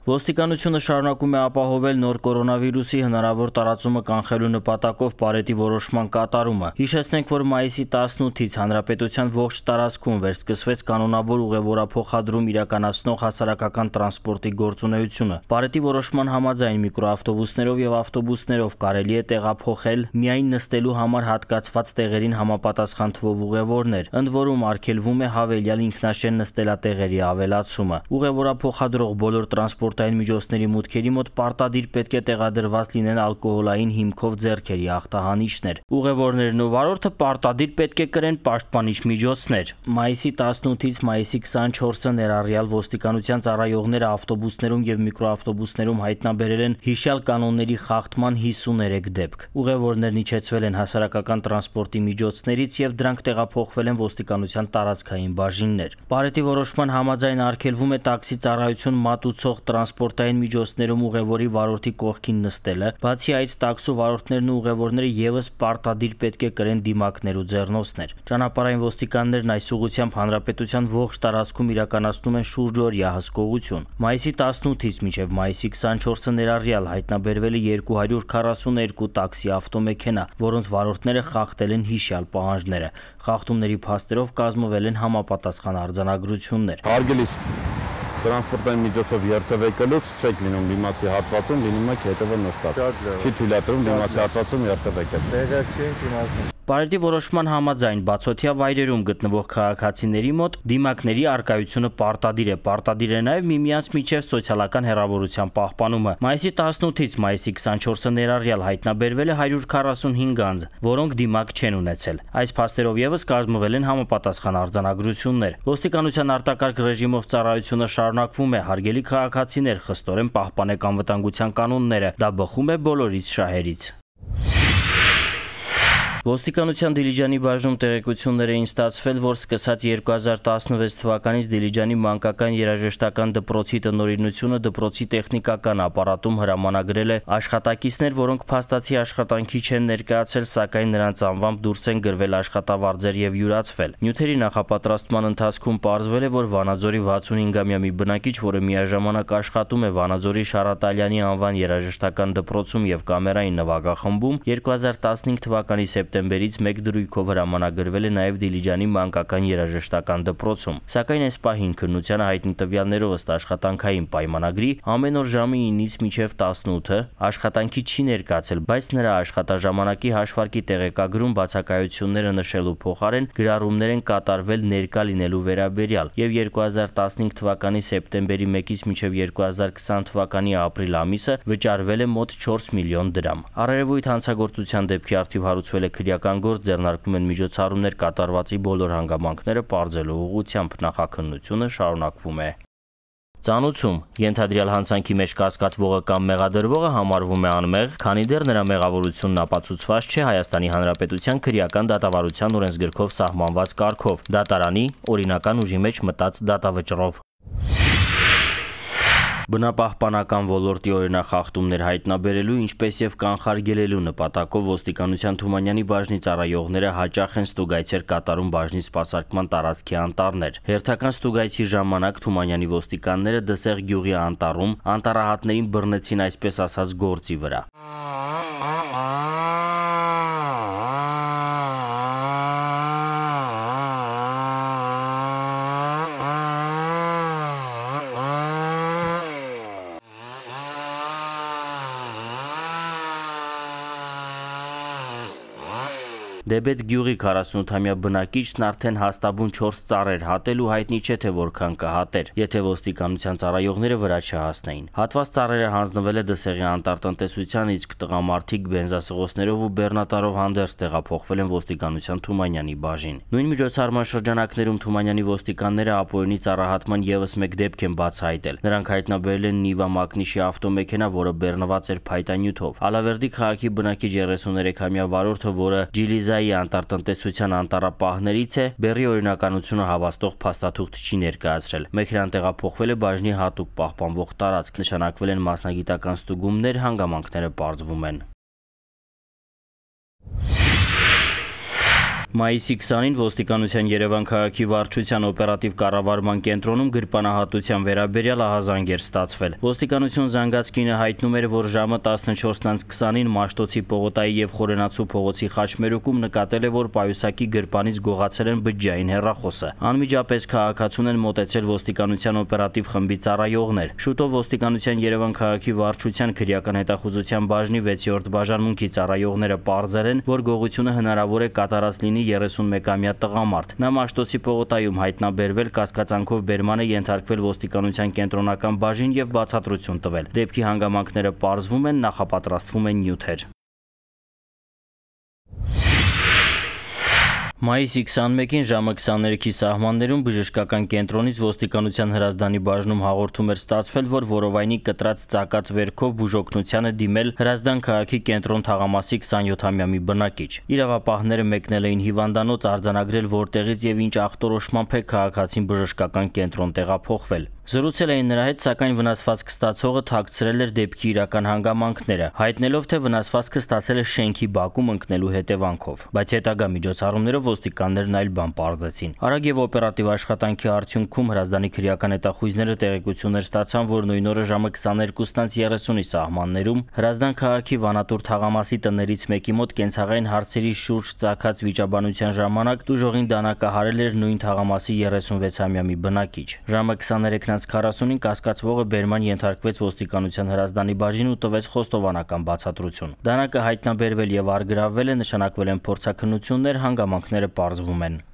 Ոստիկանությունը շարունակում է ապահովել նոր կորոնավիրուսի հնարավոր տարածումը կանխելու նպատակով պարետի որոշման կատարումը։ Հիշեցնենք, որ մայիսի 18-ից հանրապետության ողջ տարածքում վերսկսվեց կանոնավոր ուղևորափոխադրում իրականացնող հասարակական տրանսպորտի գործունեությունը։ Պարետի որոշման համաձայն միկրոավտոբուսներով եւ ավտոբուսներով կարելի է տեղափոխել միայն նստելու համար հատկացված տեղերին համապատասխան թվով ուղևորներ, ընդ որում արգելվում է հավելյալ ինքնաշեն նստելատեղերի ավելացումը։ Ուղևորափոխադրող բոլոր տրանսպորտային միջոցների մուտքերի մոտ պարտադիր պետք է տեղադրված լինեն ալկոհոլային հիմքով ձեռքերի ախտահանիչներ։ Ուղևորներն ու վարորդը պարտադիր պետք է կրեն պաշտպանիչ միջոցներ։ Մայիսի 18-ից մայիսի 24-ը ներառյալ ոստիկանության ծառայողները ավտոբուսներում եւ միկրոավտոբուսներում հայտնաբերել են հիշյալ կանոնների խախտման 53 դեպք։ Ուղևորներն իջեցվել են հասարակական տրանսպորտի միջոցներից եւ դրանք տեղափոխվել են ոստիկանության տարածքային բաժիններ։ Պարետի որոշման համաձայն արգելվում է տաքսի ծառայություն մատուցող տրանսպորտային միջոցներում ուղևորի վարորդի կողքին նստելը։ Բացի այդ, տաքսու վարորդներն ու ուղևորները եւս պարտադիր պետք է կրեն դիմակներ ու ձեռնոցներ։ Ճանապարհային ոստիկաններն այս ուղղությամբ հանրապետության ողջ տարածքում իրականացնում են շուրջօրյա հսկողություն։ Մայիսի 18-ից մինչև մայիսի 24-ը ներառյալ հայտնաբերվել է 242 տաքսի ավտոմեքենա, որոնց վարորդները խախտել են հիշյալ պահանջները։ Խախտումների փաստերով կազմվել են համապատասխան արձանագրություններ։ Հարգելի տրանսպորտային միջոցով երթևեկելուց չեք լինում դիմացի հատվածում, լինում եք հետևը նստած։ Չի թույլատրում դիմացի հատվածում երթևեկել։ Տեղը չենք իմացում։ Պարետի որոշման համաձայն բացօթյա վայրերում գտնվող քաղաքացիների մոտ դիմակների առկայությունը պարտադիր է։ Պարտադիր է նաև միմյանց միջև սոցիալական հեռավորության պահպանումը։ Մայիսի 18-ից մայիսի 24-ը ներառյալ հայտնաբերվել է 145 անձ, որոնք դիմակ չեն ունեցել։ Այս փաստերով եւս կազմվել են համապատասխան արձանագրություններ։ Ոստիկանության արտակարգ ռեժիմով ծառայությունը շարունակվում է։ Հարգելի քաղաքացիներ, խստորեն պահպանեք անվտանգության կանոնները։ Դա բխում է բոլորից շահերից։ Ոստիկանության Դիլիջանի բաժնում տեղեկություններ էին ստացվել, որ սկսած 2016 թվականից Դիլիջանի մանկական երաժշտական դպրոցի տնօրինությունը դպրոցի տեխնիկական ապարատում հրամանագրել է աշխատակիցներ, որոնք փաստացի աշխատանքի չեն ներկայացել, սակայն նրանց անվամբ դուրս են գրվել աշխատավարձեր եւ յուրացվել։ Նյութերի նախապատրաստման ընթացքում պարզվել է, որ Վանաձորի 65-ամյա մի բնակիչ, որը միաժամանակ աշխատում է Վանաձորի Շարատալյանի անվան երաժշտական դպրոցում եւ կամերային նվագախմբում, 2015 թվականի սեպտեմբերից մեկ դրույքով հրամանագրվել է նաև Դիլիջանի մանկական երաժշտական դպրոցում։ Սակայն այս պահին քննությանը հայտնի տվյալներով ըստ աշխատանքային պայմանագրի ամեն օր ժամը 9-ից մինչև 18-ը աշխատանքի չի ներկայացել, բայց նրա աշխատաժամանակի հաշվարկի տեղեկագրում բացակայությունները նշելու փոխարեն գրառումներ են կատարվել ներկա լինելու վերաբերյալ եւ 2015 թվականի սեպտեմբերի 1-ից մինչև 2020 թվականի ապրիլ ամիսը վճարվել է մոտ 4 միլիոն դրամ։ Առերևույթ հանցագործության դեպքի առթիվ հարուցվել է քրեական գործ, ձեռնարկվում են միջոցառումներ կատարվածի բոլոր հանգամանքները պարզելու ուղղությամբ նախաքննությունը շարունակվում է։ Ծանուցում ենթադրյալ հանցանքի մեջ կասկածվողը կամ մեղադրվողը համարվում է անմեղ, քանի դեռ նրա մեղավորությունն ապացուցված չէ Հայաստանի Հանրապետության քրեական դատավարության օրենսգրքով սահմանված կարգով, դատարանի օրինական ուժի մեջ մտած դատավճռով։ Բնապահպանական ոլորտի օրինախախտումներ հայտնաբերելու, ինչպես եւ կանխարգելելու նպատակով ոստիկանության Թումանյանի բաժնի ծառայողները հաճախ են ստուգայցեր կատարում բաժնի սպասարկման տարածքի անտառներ։ Հերթական ստուգայցի ժամանակ Թումանյանի ոստիկանները Դսեղ գյուղի անտառում անտառահատներին բռնեցին այսպես ասած գործի վրա։ Դեբետ գյուղի 48-ամյա բնակիչն արդեն հաստաբուն 4 ծառեր հատել ու հայտնի չէ թե որքան կհատեր, եթե ոստիկանության ծառայողները վրա չհասնեին։ Հատված ծառերը հանձնվել է Դսեղի անտառտնտեսության, իսկ տղամարդիկ բենզասղոցներով ու բեռնատարով հանդերձ տեղափոխվել են ոստիկանության Թումանյանի բաժին։ Նույն միջոցառման շրջանակներում Թումանյանի ոստիկանները ապօրինի ծառահատման եւս մեկ դեպք են բացահայտել։ Նրանք հայտնաբերել են Նիվա Մակնիշի ավտոմեքենա, որը բեռնված էր փայտանյութով։ Ալավերդի քաղաքի բնակիչ 33-ամյա վարորդը, որը Ջիլիզայի անտառտնտեսության անտառապահներից է, բեռի օրինականությունը հավաստող փաստաթուղթ չի ներկայացրել։ Մեքենան տեղափոխվել է բաժնի հատուկ պահպանվող տարածք, նշանակվել են մասնագիտական ստուգումներ, հանգամանքները պարզվում են։ Մայիսի 20-ին ոստիկանության Երևան քաղաքի վարչության օպերատիվ կառավարման կենտրոնում գրպանահատության վերաբերյալ ահազանգ էր ստացվել։ Ոստիկանություն զանգած կինը հայտնում էր, որ ժամը 14:20-ին Մաշտոցի պողոտայի եւ Խորենացու փողոցի խաչմերուկում նկատել է, որ պայուսակի գրպանից գողացել են բջջային հեռախոսը։ Անմիջապես քաղաքացուն են մոտեցել ոստիկանության օպերատիվ խմբի ծառայողներ։ Շուտով ոստիկանության Երևան քաղաքի վարչության քրեական հետախուզության բաժնի 6-րդ բաժանմունքի ծառայողները պարզել են, որ գողությունը հնարավոր է կատարած լինի 31-ամյա տղամարդ։ Նա Մաշտոցի պողոտայում հայտնաբերվել, կասկածանքով բերման է ենթարկվել ոստիկանության կենտրոնական բաժին եւ բացատրություն տվել։ Դեպքի հանգամանքները պարզվում են, նախապատրաստվում են նյութեր։ Մայիսի 21-ին ժամը 23-ի սահմաններում բժշկական կենտրոնից ոստիկանության հրազդանի բաժնում հաղորդում էր ստացվել, որ որովայնի կտրած ծակած վերքով բուժօգնության է դիմել Հրազդան քաղաքի կենտրոն թաղամասի 27-ամյա մի բնակիչ։ Իրավապահները մեկնել էին հիվանդանոց արձանագրել, որտեղից եւ ինչ ախտորոշմամբ է քաղաքացին բժշկական կենտրոն տեղափոխվել։ Զրուցել էին նրա հետ, սակայն վնասվածք ստացողը թաքցրել էր դեպքի իրական հանգամանքները, հայտնելով, թե վնասվածքը ստացել է շենքի բակում ընկնելու հետևանքով, բայց հետագա միջոցառումներով ոստիկաններն այլ բան պարզեցին։ Արագ եւ օպերատիվ աշխատանքի արդյունքում Հրազդանի քրեական հետախույզները տեղեկություններ ստացան, որ նույն օրը ժամը 22:30-ի սահմաններում Հրազդան քաղաքի Վանատուր թաղամասի տներից մեկի մոտ կենցաղային հարցերի շուրջ ծագած վիճաբանության ժամանակ տուժողին դանակահարել էր նույն թաղամասի 36-ամյա մի բնակիչ։ Ժամը 23:40-ին կասկածվողը բերման ենթարկվեց ոստիկանության Հրազդանի բաժին ու տվեց խոստովանական բացատրություն։ Դանակը հայտնաբերվել եւ առգրավվել է, նշանակվել են փորձաքննություններ, հանգամանքները պարզվում են։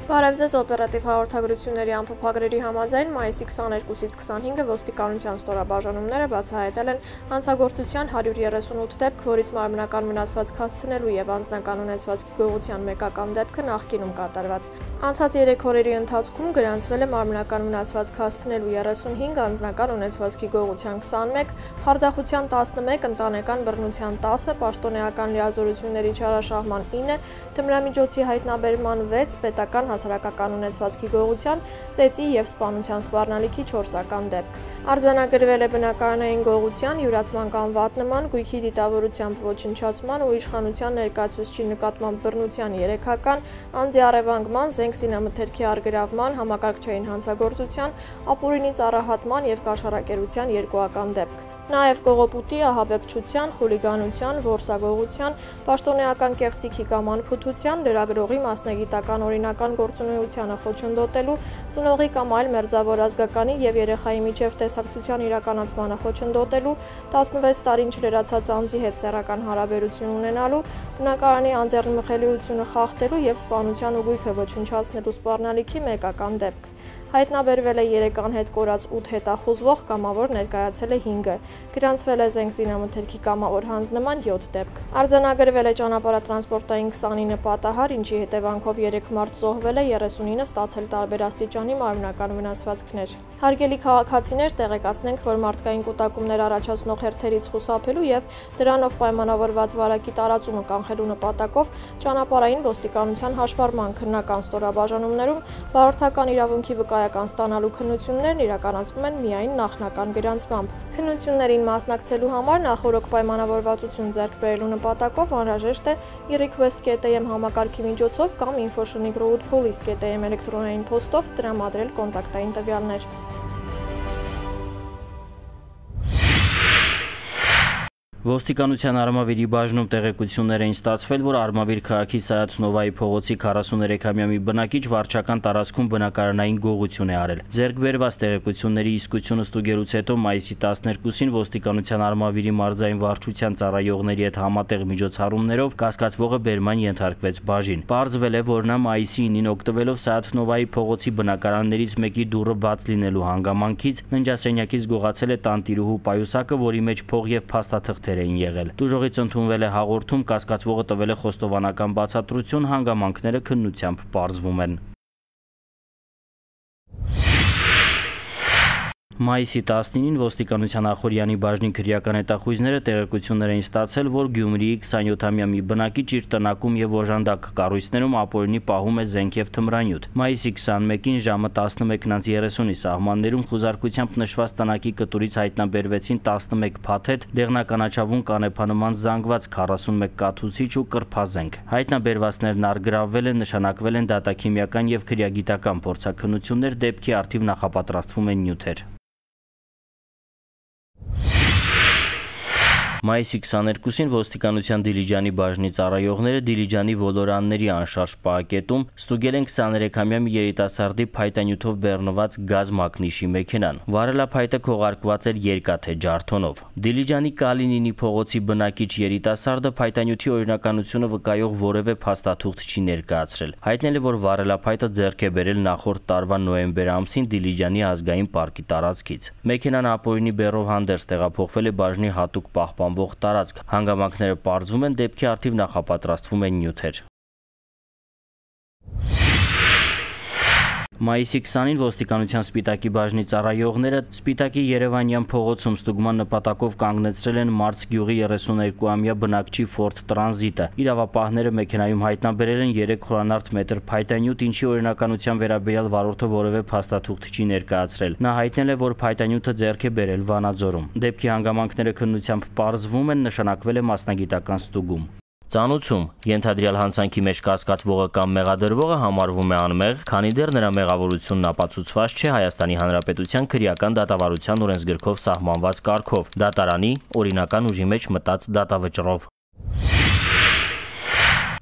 Բարև ձեզ, օպերատիվ հաղորդագրությունների ամփոփագրերի համաձայն մայիսի 22-ից 25-ը ոստիկանության ստորաբաժանումները բացահայտել են հանցագործության 138 դեպք, որից մարմնական վնասվածք հասցնելու եւ անձնական ունեցվածքի գողության մեկական դեպքը նախկինում կատարված։ Անցած 3 օրերի ընթացքում գրանցվել է մարմնական վնասվածք հասցնելու 35, անձնական ունեցվածքի գողության 21, խարդախության 11, ընտանեկան բռնության 10, պաշտոնեական լիազորությունների չարաշահման 9, թմրամիջոցի հայտնաբերման 6, պետական հասարակական ունեցվածքի գողության, ծեծի եւ սպանության սպառնալիքի 4-ական դեպք։ Արձանագրվել է բնակարանային գողության, յուրացման կամ վատնման, գույքի դիտավորությամբ ոչնչացման ու իշխանության ներկայացուցչի նկատմամբ բռնության 3-ական, անձի առևանգման, զենք զինամթերքի առգրավման, համակարգչային հանցագործության, ապօրինի ծառահատման եւ կաշառակերության 2-ական դեպք։ Նաև կողոպուտի, ահաբեկչության, խուլիգանության, որսագողության, պաշտոնեական կեղծիքի կամ անփութության, լրագրողի մասնագիտական օրինական գործունեությանը խոչընդոտելու, ծնողի կամ այլ մերձավոր ազգականի եւ երեխայի միջև տեսակցության իրականացմանը խոչընդոտելու, 16 տարին չլրացած անձի հետ սեռական հարաբերություն ունենալու, բնակարանի անձեռնմխելիությունը խախտելու եւ սպանության ու գույքը ոչնչացնելու սպառնալիքի մեկական դեպք։ Հայտնաբերվել է 3 անհետ կորած 8 հետախուզվող, կամավոր ներկայացել է 5-ը, գրանցվել է զենք զինամթերքի կամավոր հանձնման 7 դեպք։ Արձանագրվել է ճանապարհատրանսպորտային 29 պատահար, ինչի հետևանքով 3 մարդ զոհվել է, 39-ը ստացել տարբեր աստիճանի մարմնական վնասվածքներ։ Հարգելի քաղաքացիներ, տեղեկացնենք, որ մարդկային կուտակումներ առաջացնող հերթերից խուսափելու եւ դրանով պայմանավորված վարակի տարածումը կանխելու նպատակով ճանապարհային ոստիկանության հաշվառման քննական ստորաբաժանումներում վարորդական իրավունքի վկայական ստանալու քննություններն իրականացվում են միայն նախնական գրանցմամբ։ Քննություններին մասնակցելու համար նախօրոք պայմանավորվածություն ձեռք բերելու նպատակով անհրաժեշտ է e-request.am համակարգի միջոցով կամ info@roadpolice.am էլեկտրոնային փոստով տրամադրել կոնտակտային տվյալներ։ Ոստիկանության Արմավիրի բաժնում տեղեկություններ էին ստացվել, որ Արմավիր քաղաքի Սայաթ Նովայի փողոցի 43-ամյա մի բնակիչ վարչական տարածքում բնակարանային գողություն է արել։ Ձեռք բերված տեղեկությունների իսկությունը ստուգելուց հետո մայիսի 12-ին ոստիկանության Արմավիրի մարզային վարչության ծառայողների հետ համատեղ միջոցառումներով կասկածվողը բերման ենթարկվեց բաժին։ Պարզվել է, որ նա մայիսի 9-ին օգտվելով Սայաթ Նովայի փողոցի բնակարաններից մեկի դուռը բաց լինելու հանգամանքից ննջասենյակից գողացել է տանտիրուհու պայուսակը, որի մեջ փող եւ փաստաթղթեր էին եղել։ Տուժողից ընդունվել է հաղորդում, կասկածվողը տվել է խոստովանական բացատրություն, հանգամանքները քննությամբ պարզվում են։ Մայիսի 19-ին ոստիկանության Ախորյանի բաժնի քրեական հետախույզները տեղեկություններ էին ստացել, որ Գյումրիի 27-ամյա մի բնակիչ իր տնակում եւ օժանդակ կառույցներում ապօրինի պահում է զենք եւ թմրանյութ։ Մայիսի 21-ին ժամը 11:30-ի սահմաններում խուզարկությամբ նշված տնակի կտուրից հայտնաբերվեցին 11 փաթեթ, դեղնականաչավուն կանեփանման զանգված 41 կաթուցիչ ու կրփազենք։ Հայտնաբերվածներն առգրավվել են, նշանակվել են դատաքիմիական եւ քրեագիտական փորձաքննություններ, դեպքի առթիվ նախապատրաստվում են նյութեր։ Մայիսի 22-ին ոստիկանության Դիլիջանի բաժնի ծառայողները Դիլիջանի ոլորանների անշարժ պահակետում ստուգել են 23-ամյա մի երիտասարդի փայտանյութով բեռնված գազ մակնիշի մեքենան։ Վարելափայտը քողարկված էր երկաթե ջարդոնով։ Դիլիջանի Կալինինի փողոցի բնակիչ երիտասարդը փայտանյութի օրինականությունը վկայող որևէ փաստաթուղթ չի ներկայացրել։ Հայտնել է, որ վարելափայտը ձեռք է բերել նախորդ տարվա նոյեմբեր ամսին Դիլիջանի ազգային պարկի տարածքից։ Մեքենան ապօրինի բեռով հանդերձ տեղափոխվել է բաժնի հատուկ պահպանվող տարածք։ Հանգամանքները պարզվում են, դեպքի առթիվ նախապատրաստվում են նյութեր։ Մայիսի 20-ին ոստիկանության Սպիտակի բաժնի ծառայողները Սպիտակի Երևանյան փողոցում ստուգման նպատակով կանգնեցրել են Մարց գյուղի 32-ամյա բնակչի Ford Transit-ը։ Իրավապահները մեքենայում հայտնաբերել են 3 խորանարդ մետր փայտանյութ, ինչի օրինականության վերաբերյալ վարորդը որևէ փաստաթուղթ չի ներկայացրել։ Նա հայտնել է, որ փայտանյութը ձեռք է բերել Վանաձորում։ Դեպքի հանգամանքները քննությամբ պարզվում են, նշանակվել է մասնագիտական ստուգում։ Ծանուցում ենթադրյալ հանցանքի մեջ կասկածվողը կամ մեղադրվողը համարվում է անմեղ, քանի դեռ նրա մեղավորությունն ապացուցված չէ Հայաստանի Հանրապետության քրեական դատավարության օրենսգրքով սահմանված կարգով, դատարանի օրինական ուժի մեջ մտած դատավճռով։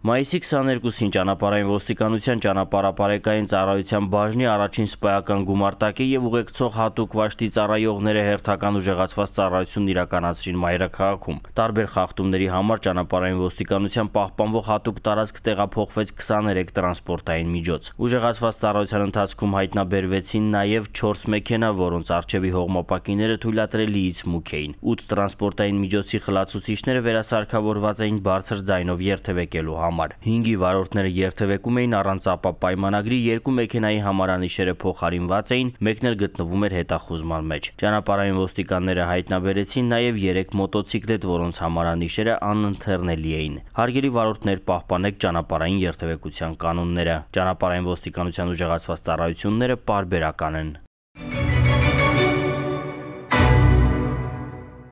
Մայիսի 22-ին ճանապարհային ոստիկանության ճանապարհապարեկային ծառայության բաժնի առաջին սպայական գումարտակի եւ ուղեկցող հատուկ վաշտի ծառայողները հերթական ուժեղացված ծառայություն իրականացրին մայրաքաղաքում։ Տարբեր խախտումների համար ճանապարհային ոստիկանության պահպանվող հատուկ տարածք տեղափոխվեց 23 տրանսպորտային միջոց։ Ուժեղացված ծառայության ընթացքում հայտնաբերվեցին նաեւ 4 մեքենա, որոնց առջևի հողմապակիները թույլատրելիից մուգ էին։ 8 տրանսպորտային միջոցի խլացուցիչները վերասարքավորված էին բարձր ձայնով երթևեկելու համար։ 5-ի վարորդները երթևեկում էին առանց ապա պայմանագրի, 2 մեքենայի համարանիշերը փոխարինված էին, մեկն էլ գտնվում էր հետախուզման մեջ։ Ճանապարհային ոստիկանները հայտնաբերեցին նաև 3 մոտոցիկլետ, որոնց համարանիշերը անընթեռնելի էին։ Հարգելի վարորդներ, պահպանեք ճանապարհային երթևեկության կանոնները։ Ճանապարհային ոստիկանության ուժեղացված ծառայությունները պարբերական են։